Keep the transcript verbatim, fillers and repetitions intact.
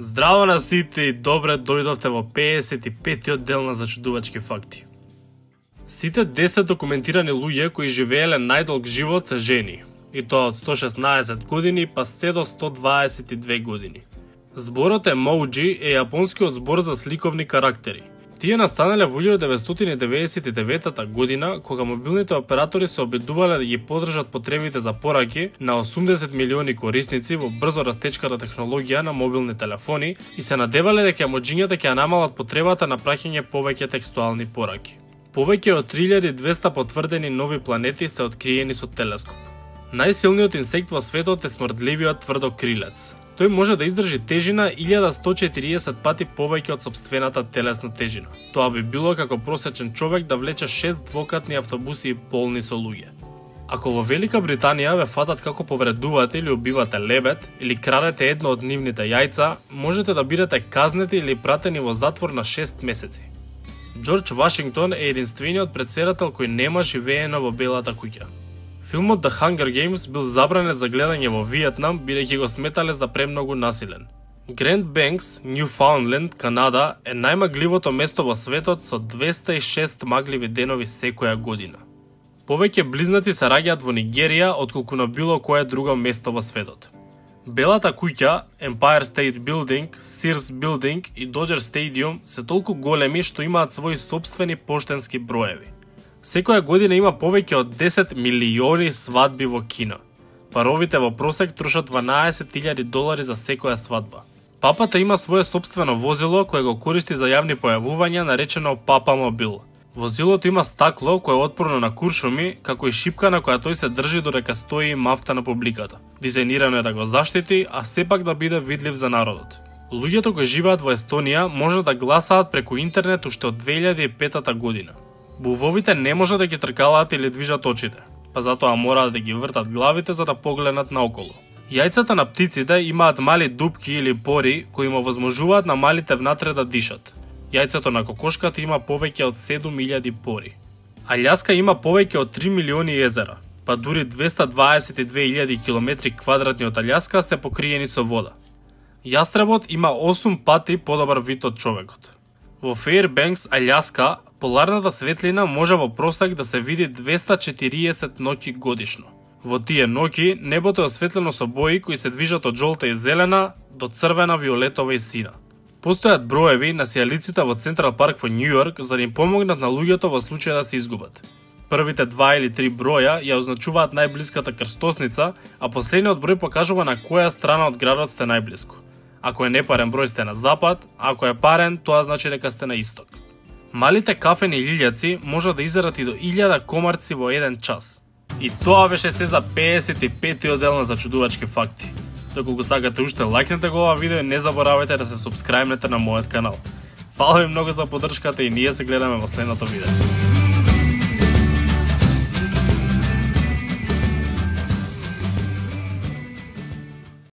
Здраво на сите и добре дојдовте во педесет и петтиот дел на Зачудувачки факти. Сите десет документирани луѓе кои живееле најдолг живот се жени, и тоа од сто шеснаесет години па се до сто дваесет и две години. Зборот емоджи е јапонскиот збор за сликовни карактери. Тие настанале во илјада деветстотини деветдесет и девета година, кога мобилните оператори се обидувале да ги поддржат потребите за пораки на осумдесет милиони корисници во брзо растечката технологија на мобилни телефони и се надевале дека емоџињата ќе намалат потребата на праќање повеќе текстуални пораки. Повеќе од три илјади и двесте потврдени нови планети се откриени со телескоп. Најсилниот инсект во светот е смрдливиот тврдокрилец. Тој може да издржи тежина илјада сто четириесет пати повеќе од сопствената телесна тежина. Тоа би било како просечен човек да влече шест двокатни автобуси полни со луѓе. Ако во Велика Британија ве фатат како повредувате или убивате лебед, или крадете едно од нивните јајца, можете да бидете казнети или пратени во затвор на шест месеци. Џорџ Вашингтон е единствениот претседател кој нема живеено во Белата куќа. Филмот The Hunger Games бил забранет за гледање во Виетнам, бидејќи го сметале за премногу насилен. Гранд Бенкс, Ньюфаундленд, Канада е најмагливото место во светот со двесте и шест магливи денови секоја година. Повеќе близнаци се раѓаат во Нигерија отколку на било кое друго место во светот. Белата куќа, Empire State Building, Sears Building и Dodger Stadium се толку големи што имаат своји сопствени поштенски броеви. Секоја година има повеќе од десет милиони свадби во Кина. Паровите во просек трошат дванаесет илјади долари за секоја свадба. Папата има свое сопствено возило кое го користи за јавни појавувања, наречено Папа Мобил. Возилото има стакло кое е отпорно на куршуми, како и шипка на која тој се држи додека стои и мафта на публиката. Дизајнирано е да го заштити, а сепак да биде видлив за народот. Луѓето кои живеат во Естонија може да гласаат преку интернет уште од две илјади и пета година. Бувовите не може да ги тркалаат или движат очите, па затоа мораат да ги вртат главите за да погледнат наоколу. Јајцата на птиците имаат мали дупки или пори кои им овозможуваат на малите внатре да дишат. Јајцето на кокошката има повеќе од седум илјади пори. Алјаска има повеќе од три милиони езера, па дури двесте дваесет и две илјади километри квадратни од Алјаска се покриени со вода. Јастребот има осум пати подобар вид од човекот. Во Фејрбенкс, Алјаска, поларната светлина може во просек да се види двесте четириесет ноќи годишно. Во тие ноќи небото е осветлено со бои кои се движат од жолта и зелена до црвена, виолетова и сина. Постојат броеви на сијалиците во Централ парк во Њу Јорк за да им помогнат на луѓето во случај да се изгубат. Првите два или три броја ја означуваат најблиската крстосница, а последниот број покажува на која страна од градот сте најблиску. Ако е непарен број сте на запад, а ако е парен, тоа значи дека сте на исток. Малите кафени лилјаци може да изерат и до илјада комарци во еден час. И тоа беше се за педесет и петтиот дел на Зачудувачки факти. Доколку сакате уште лајкнете го ова видео и не заборавајте да се субскрајбнете на мојот канал. Фала ви многу за поддршката и ние се гледаме во следното видео.